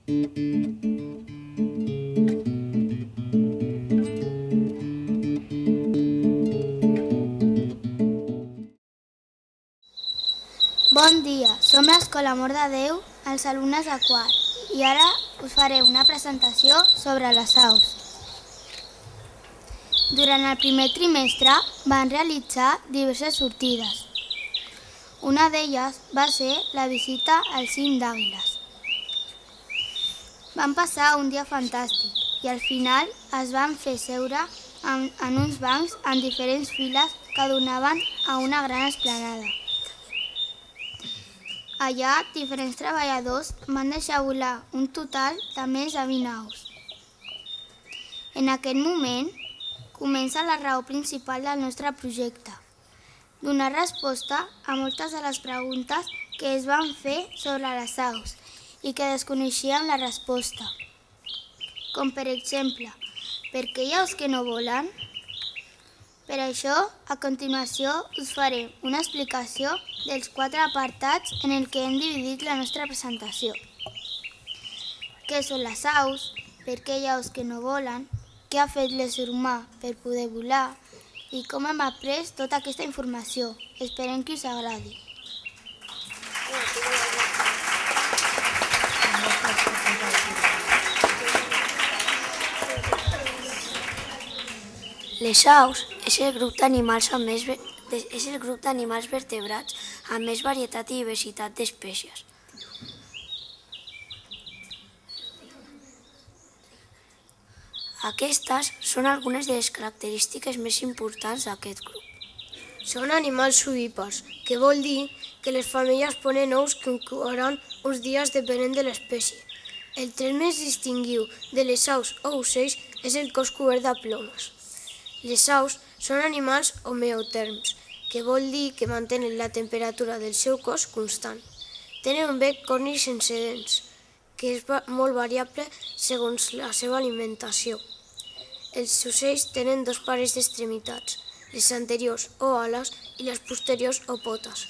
Bon dia, som l'Escola Amor de Déu, els alumnes de quart, i ara us faré una presentació sobre les aus. Durant el primer trimestre van realitzar diverses sortides. Una d'elles va ser la visita al cim d'Àguiles. Van passar un dia fantàstic i al final es van fer seure en uns bancs en diferents files que donaven a una gran esplanada. Allà, diferents treballadors van deixar volar un total de més de 20 aus. En aquest moment, comença la raó principal del nostre projecte: donar resposta a moltes de les preguntes que es van fer sobre les aus i que desconeixíem la resposta. Com per exemple, per què hi ha aus que no volen? Per això, a continuació, us faré una explicació dels 4 apartats en el que hem dividit la nostra presentació. Què són les aus? Per què hi ha aus que no volen? Què ha fet l'ésser humà per poder volar? I com hem après tota aquesta informació. Esperem que us agradi. Les aus és el grup d'animals vertebrats amb més varietat i diversitat d'espècies. Aquestes són algunes de les característiques més importants d'aquest grup. Són animals ovípars, que vol dir que les femelles ponen ous que incubaran uns dies depenent de l'espècie. El tret més distintiu de les aus o ocells és el cos cobert de plomes. Les aus són animals homeotèrms, que vol dir que mantenen la temperatura del seu cos constant. Tenen un bec corni sense dents, que és molt variable segons la seva alimentació. Els ocells tenen 2 parells d'extremitats, les anteriors o ales i les posteriors o potes.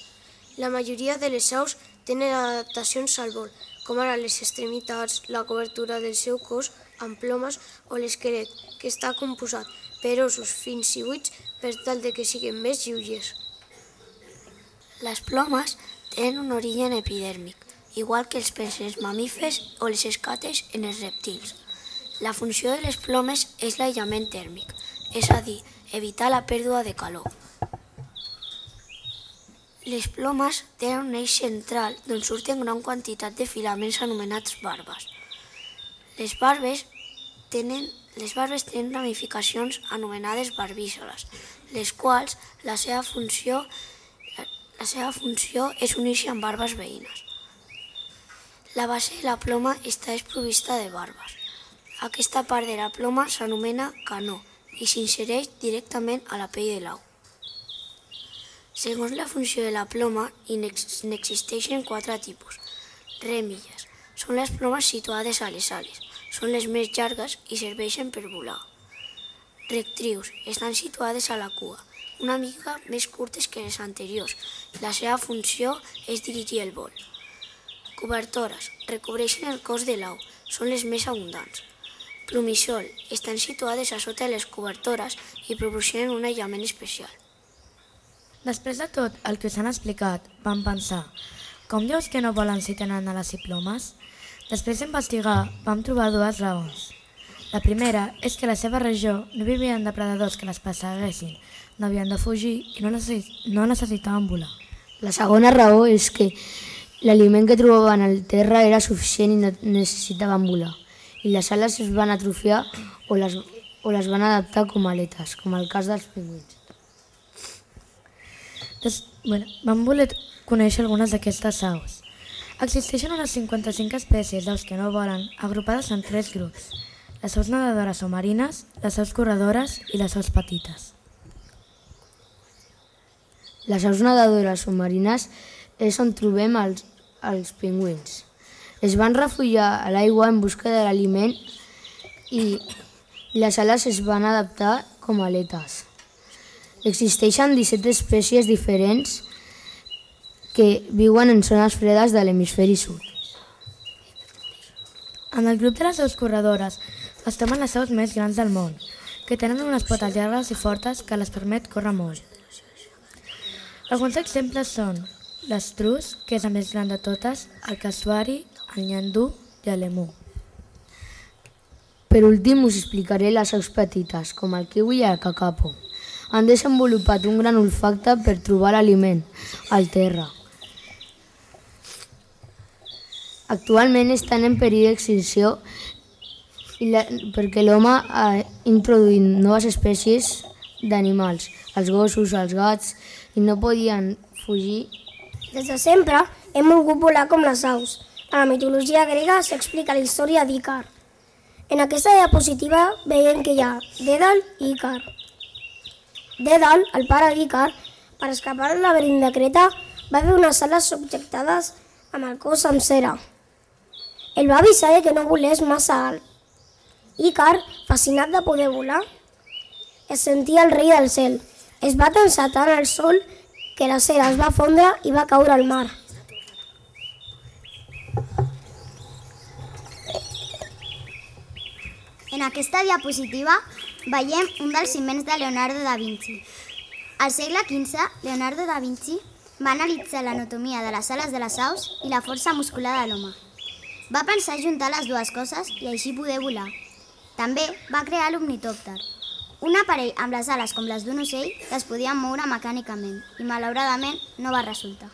La majoria de les aus tenen adaptacions al vol, com ara les extremitats, la cobertura del seu cos amb plomes o l'esquelet, que està composat per ossos fins i buits per tal que siguin més lleugers. Les plomes tenen un origen epidèrmic, igual que els peixos, els mamífers o les escates en els rèptils. La funció de les plomes és l'aïllament tèrmic, és a dir, evitar la pèrdua de calor. Les plomes tenen un eix central d'on surten gran quantitat de filaments anomenats barbes. Les barbes tenen ramificacions anomenades barbísoles, les quals la seva funció és unir-se amb barbes veïnes. La base de la ploma està desprovista de barbes. Aquesta part de la ploma s'anomena canó i s'insereix directament a la pell de l'au. Segons la funció de la ploma, n'existeixen 4 tipus. Rèmilles són les plomes situades a les ales. Són les més llargues i serveixen per volar. Rectrius estan situades a la cua, una mica més curtes que les anteriors. La seva funció és dirigir el vol. Cobertores recobreixen el cos de l'au, són les més abundants. Plumissol estan situades a sota de les cobertores i proporcionen un aïllament especial. Després de tot el que us han explicat, vam pensar: com dius que no volen si tenen ales i plomes? Després d'investigar, vam trobar 2 raons. La primera és que a la seva regió no vivien depredadors que les perseguessin, no havien de fugir i no necessitaven volar. La segona raó és que l'aliment que trobaven al terra era suficient i no necessitaven volar, i les ales es van atrofiar o les van adaptar com a aletes, com el cas dels pingüins. Vam voler conèixer algunes d'aquestes aus. Existeixen unes 55 espècies d'aus que no volen, agrupades en 3 grups: les aus nedadores o marines, les aus corredores i les aus petites. Les aus nedadores o marines és on trobem els pingüins. Es van refugiar a l'aigua en busca de l'aliment i les ales es van adaptar com a aletes. Existeixen 17 espècies diferents que viuen en zones fredes de l'hemisferi sud. En el grup de les aus corredores es troben les aus més grans del món, que tenen unes potes llargues i fortes que les permet córrer molt. Alguns exemples són l'estrus, que és la més gran de totes, el casuari, el nyandú i l'emú. Per últim us explicaré les aus petites, com el kiwi i el kakapo. Han desenvolupat un gran olfacte per trobar l'aliment al terra. Actualment estan en perill d'extinció perquè l'home ha introduït noves espècies d'animals, els gossos, els gats, i no podien fugir. Des de sempre hem volgut volar com les aus. A la mitologia grega s'explica la història d'Ícar. En aquesta diapositiva veiem que hi ha Dèdal i Ícar. Dèdal, el pare d'Ícar, per escapar del laberint de Creta, va fer unes ales subjectades amb el cos amb cera. El va avisar que no volés massa alt. Ícar, fascinat de poder volar, es sentia el rei del cel. Es va tensar tant al sol que la cera es va fondre i va caure al mar. En aquesta diapositiva veiem un dels invents de Leonardo da Vinci. Al segle XV, Leonardo da Vinci va analitzar l'anatomia de les ales de les aus i la força muscular de l'home. Va pensar juntar les dues coses i així poder volar. També va crear l'ornitòpter, un aparell amb les ales com les d'un ocell que es podien moure mecànicament i malauradament no va resultar.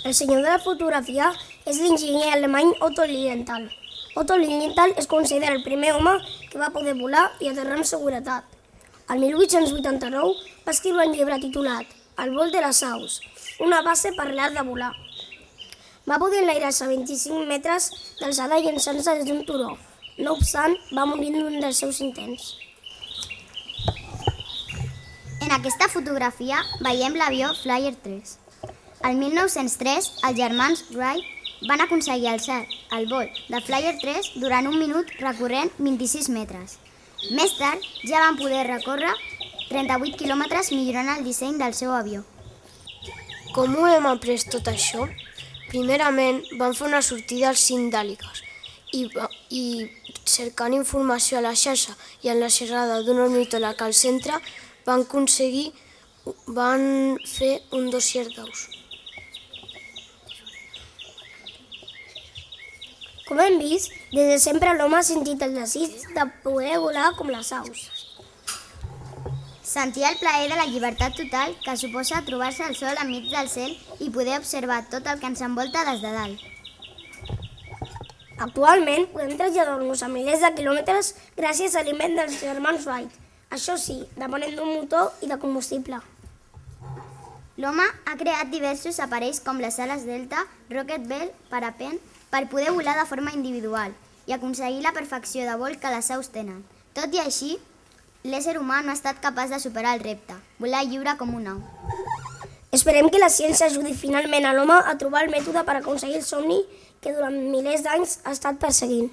El senyor de la fotografia és l'enginyer alemany Otto Lilienthal. Otto Lilienthal es considera el primer home que va poder volar i aterrar amb seguretat. El 1889 va escriure un llibre titulat El vol de les aus, una base per l'art de volar. Va poder enlairar-se a 25 metres d'alçada llançant-se des d'un turó. No obstant, va morir en un dels seus intents. En aquesta fotografia veiem l'avió Flyer 3. El 1903, els germans Wright van aconseguir alçar el vol de Flyer 3 durant un minut recorrent 26 metres. Més tard, ja van poder recórrer 38 quilòmetres millorant el disseny del seu avió. Com ho hem après tot això? Primerament, van fer una sortida als sindàliques i cercant informació a la xarxa i en la xerrada d'un ornitòleg al centre van fer un dossier d'aus. Com hem vist, des de sempre l'home ha sentit el desig de poder volar com les aus. Sentia el plaer de la llibertat total que suposa trobar-se al sol enmig del cel i poder observar tot el que ens envolta des de dalt. Actualment podem traslladar-nos a milers de quilòmetres gràcies a l'invent dels germans Wright. Això sí, depenent d'un motor i de combustible. L'home ha creat diversos aparells com les ales delta, Rocket Bell, parapent, per poder volar de forma individual i aconseguir la perfecció de vol que les aus tenen. Tot i així, l'ésser humà no ha estat capaç de superar el repte, volar lliure com un au. Esperem que la ciència ajudi finalment a l'home a trobar el mètode per aconseguir el somni que durant milers d'anys ha estat perseguint.